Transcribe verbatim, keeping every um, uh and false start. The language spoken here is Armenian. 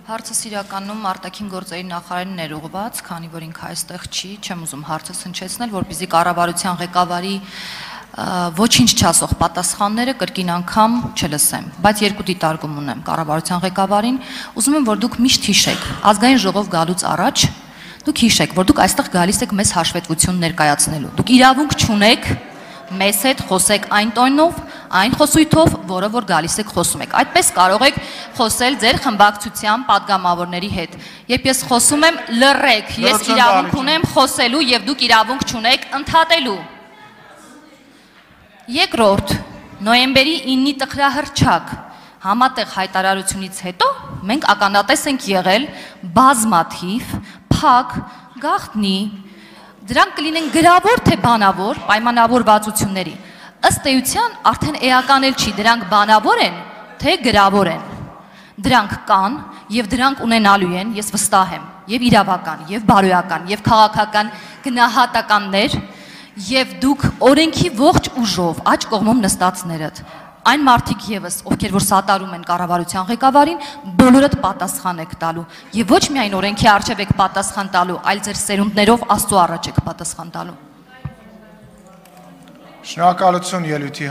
Հարցս իրականում արտաքին գործերի նախարարին ներուղված, քանի որ ինքը այստեղ չի, չեմ ուզում հարցը հնչեցնել, որպեսզի կառավարության ղեկավարի ոչինչ չասող պատասխանները կրկին անգամ չլսեմ, բայց երկու դիտարկում ունեմ կառավարության ղեկավարին, ուզում եմ, որ դուք միշտ հիշեք, ազգային ժողով գալուց առաջ, դուք հիշեք, որ դուք այստեղ գալիս եք մեզ հաշվետվություն ներկայացնելու, դուք իրավունք չունեք մեզ հետ խոսեք այն տոնով, այն խոսույթով, որը որ գալիս եք խոսում եք, այդպես կարող եք խոսել ձեր խմբակցության պատգամավորների հետ, երբ ես խոսում եմ լռեք, ես իրավունք ունեմ խոսելու և դուք իրավունք չունեք ընդհատելու։ Երկրորդ, նոյեմբերի իննի տխրահռչակ համատեղ հայտարարությունից հետո մենք ականատես ենք եղել բազմաթիվ, փակ, գաղտնի, դրանք կլինեն գրավոր թե բանավոր պայմանավորվածությունների, ըստ էության արդեն էական էլ չի, դրանք բանավոր են, թե գրավոր են, դրանք կան և դրանք ունենալու են, ես վստահ եմ, և իրավական, և բարոյական, և քաղաքական գնահատականներ, և դուք օրենքի ողջ ուժով աջ կողմում նստածներդ, այն մարդիկ ևս, ովքեր որ սատարում են կառավարության ղեկավարին, բոլորդ պատասխան եք տալու, և ոչ միայն օրենքի առջև եք պատասխան տալու, այլ ձեր սերունդներով Աստծո առաջ եք պատասխան տալու։ Շնորհակալություն ելույթի